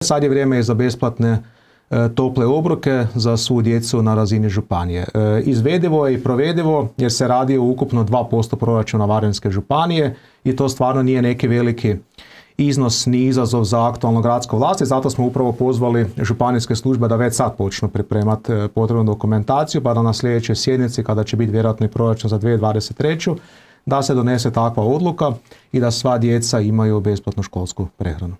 Sad je vrijeme i za besplatne tople obroke za svu djecu na razini županije. Izvedivo je i provedivo jer se radi o ukupno 2% proračuna Varaždinske županije i to stvarno nije neki veliki iznos ni izazov za aktualnu gradsku vlast i zato smo upravo pozvali županijske službe da već sad počnu pripremati potrebnu dokumentaciju pa da na sljedećoj sjednici, kada će biti vjerojatno i proračun za 2023. da se donese takva odluka i da sva djeca imaju besplatnu školsku prehranu.